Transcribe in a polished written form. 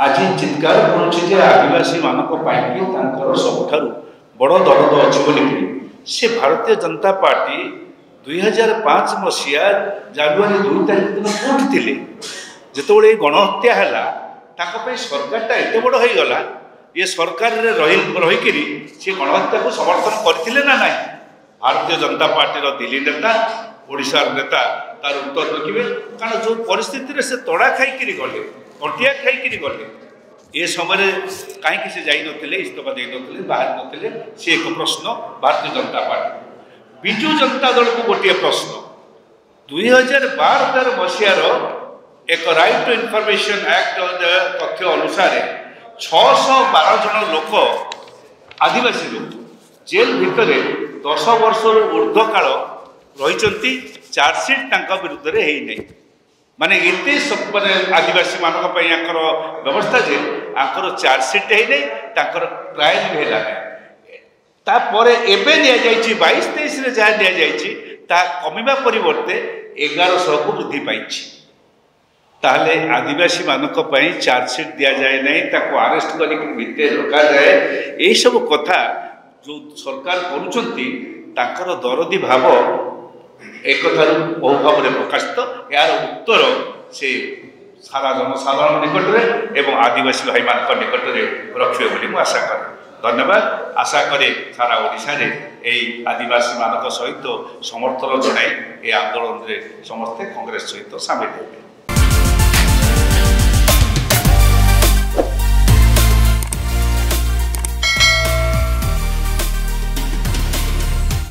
ଆଜି ଚିତ୍କାର କରୁଛି ଯେ ଆଦିବାସୀମାନଙ୍କ ପାଇଁକି ତାଙ୍କର ସବୁଠାରୁ ବଡ଼ ଦରଦ ଅଛି ବୋଲିକିରି, ସେ ଭାରତୀୟ ଜନତା ପାର୍ଟି 2005 ମସିହା ଜାନୁଆରୀ 2 ତାରିଖ ଦିନ କେଉଁଠି ଥିଲେ ଯେତେବେଳେ ଏଇ ଗଣହତ୍ୟା ହେଲା? ତାଙ୍କ ପାଇଁ ସରକାରଟା ଏତେ ବଡ଼ ହେଇଗଲା, ଇଏ ସରକାରରେ ରହିକିରି ସେ ଗଣହତ୍ୟାକୁ ସମର୍ଥନ କରିଥିଲେ ନା ନାହିଁ? ଭାରତୀୟ ଜନତା ପାର୍ଟିର ଦିଲ୍ଲୀ ନେତା, ଓଡ଼ିଶାର ନେତା ତାର ଉତ୍ତର ରଖିବେ। କାରଣ ଯେଉଁ ପରିସ୍ଥିତିରେ ସେ ତଡ଼ା ଖାଇକିରି ଗଲେ, କଟିଆ ଖାଇକିରି ଗଲେ, ଏ ସମୟରେ କାହିଁକି ସେ ଯାଇନଥିଲେ, ଇସ୍ତଫା ଦେଇନଥିଲେ, ବାହାରି ନଥିଲେ? ସେ ଏକ ପ୍ରଶ୍ନ ଭାରତୀୟ ଜନତା ପାର୍ଟି। ବିଜୁ ଜନତା ଦଳକୁ ଗୋଟିଏ ପ୍ରଶ୍ନ। 2012-13 ମସିହାର ଏକ ରାଇଟ୍ ଟୁ ଇନଫର୍ମେସନ୍ ଆକ୍ଟ ତଥ୍ୟ ଅନୁସାରେ 612 ଜଣ ଲୋକ, ଆଦିବାସୀ ଲୋକ, ଜେଲ୍ ଭିତରେ 10 ବର୍ଷରୁ ଉର୍ଦ୍ଧ୍ୱ କାଳ ରହିଛନ୍ତି, ଚାର୍ଜସିଟ୍ ତାଙ୍କ ବିରୁଦ୍ଧରେ ହେଇନାହିଁ। ମାନେ ଏତେ ମାନେ ଆଦିବାସୀମାନଙ୍କ ପାଇଁ ଆଙ୍କର ବ୍ୟବସ୍ଥା ଯେ ଆଙ୍କର ଚାର୍ଜସିଟ୍ ହେଇନାହିଁ, ତାଙ୍କର ଟ୍ରାଏଲ୍ ବି ହେଲା ନାହିଁ। ତାପରେ ଏବେ ନିଆଯାଇଛି, 22-23ରେ ଯାହା ନିଆଯାଇଛି ତାହା କମିବା ପରିବର୍ତ୍ତେ 1100କୁ ବୃଦ୍ଧି ପାଇଛି। ତାହେଲେ ଆଦିବାସୀମାନଙ୍କ ପାଇଁ ଚାର୍ଜସିଟ୍ ଦିଆଯାଏ ନାହିଁ, ତାକୁ ଆରେଷ୍ଟ କରିକି ଭିତରେ ରଖାଯାଏ। ଏଇସବୁ କଥା ଯେଉଁ ସରକାର କରୁଛନ୍ତି, ତାଙ୍କର ଦରଦୀ ଭାବ ଏକଥାରୁ ବହୁ ଭାବରେ ପ୍ରକାଶିତ। ଏହାର ଉତ୍ତର ସେ ସାରା ଜନସାଧାରଣ ନିକଟରେ ଏବଂ ଆଦିବାସୀ ଭାଇମାନଙ୍କ ନିକଟରେ ରଖିବେ ବୋଲି ମୁଁ ଆଶା କରେ। ଧନ୍ୟବାଦ। ଆଶା କରେ ସାରା ଓଡ଼ିଶାରେ ଏଇ ଆଦିବାସୀମାନଙ୍କ ସହିତ ସମର୍ଥନ ଜଣାଇ ଏ ଆନ୍ଦୋଳନରେ ସମସ୍ତେ କଂଗ୍ରେସ ସହିତ ସାମିଲ ହେବେ।